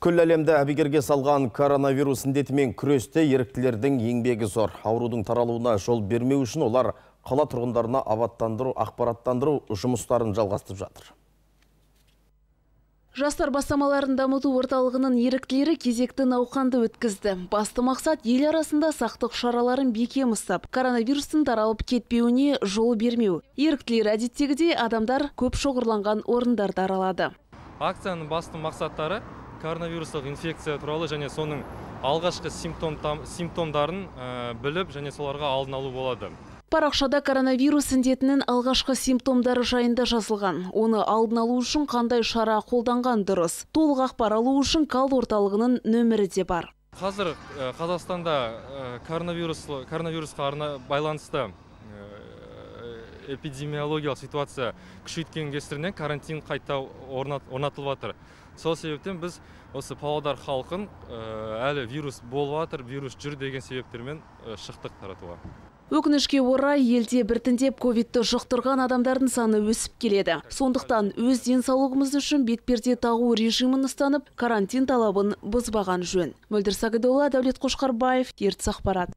Күл әлемді әбігерге салған коронавирус індетімен күресте еріктілердің еңбегі зор. Аурудың таралуына жол бермеу үшін олар қала тұрғындарына абаттандыру, ақпараттандыру жұмыстарын жалғастырып жатыр. Жастар бастамаларын дамыту орталығының еріктілері кезекті науқанды өткізді. Басты мақсат ел арасында сақтық шараларын бекем ұстап, коронавирустың таралып кетпеуіне жол бермеу. Еріктілер әдеттегідей адамдар көп шоғырланған орындарды аралады. Акцияның басты мақсаттары коронавирустық инфекция туралы және соның алғашқы симптомдарын біліп және соларға алдын алу болады. Парақшада коронавирус індетінің алғашқы симптомдары жайында жазылған. Оны алдын алу үшін қандай шара қолданған дұрыс. Толық ақпар алу үшін кал орталығының нөмірі де бар. Қазір Қазақстанда коронавирусқа байланысты эпидемиологиялық ситуация күшейткеннің кесірінен карантин қайта орнатылып жатыр. Сол себептен біз осы Павлодар халқын әлі вирус болып жатыр, вирус жүр деген себептермен шықтық таратуға. Өкінішке орай елде біртіндеп ковидті жұқтырған адамдардың саны өсіп келеді. Сондықтан өз денсаулығымыз үшін бетперде тағу режимін ұстанып, карантин талабын бұзбаған жөн. Мөлдір Сағидолла, Дәулет Қошқарбаев, Ертіс ақпарат.